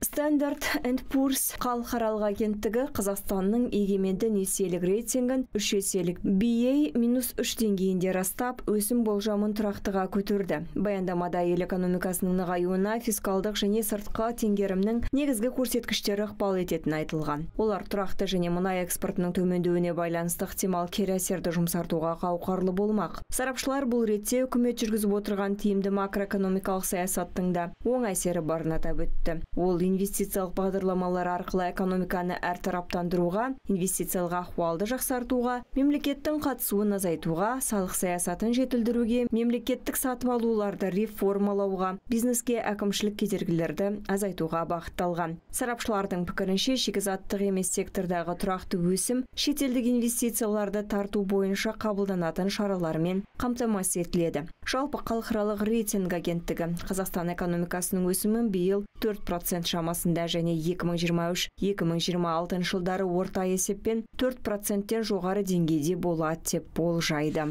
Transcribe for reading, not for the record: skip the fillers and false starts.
Standard & Poor's халықаралық агенттігі Қазақстанның егеменді несиелік рейтингін 3 еселік BA-3 деңгейінде растап, өсім болжамын тұрақтыға көтерді. Баяндамада ел экономикасының нығаюына фискалдық және сыртқы теңгерімнің негізгі көрсеткіштері ықпал ететіні айтылған. Олар тұрақты және мұнай экспортының төмендеуіне байланысты ықтимал кері әсерді жұмсартуға қауқарлы болмақ. Сарапшылар бұл ретте үкімет жүргізіп отырған тиімді макроэкономикалық саясаттың да оң әсері барын атап өтті. Ол инвестициялық бағдарламалар арқылы экономиканы әртараптандыруға, инвестициялық ахуалды жақсартуға, мемлекеттің қатысуын азайтуға, салық саясатын жетілдіруге, мемлекеттік сатып алуларды реформалауға, бизнеске әкімшілік кедергілерді азайтуға бағытталған. Сарапшылардың пікірінше, шикізаттық емес сектордағы тұрақты өсім шетелдік инвестицияларды тарту бойынша қабылданатын шаралармен қамтамасыз етіледі. Жалпы халықаралық рейтинг агенттігі Қазақстан экономикасының өсімін биыл 4% шамасында және 2023-2026 жылдары орта есеппен 4%-тен жоғары деңгейде болады деп болжайды.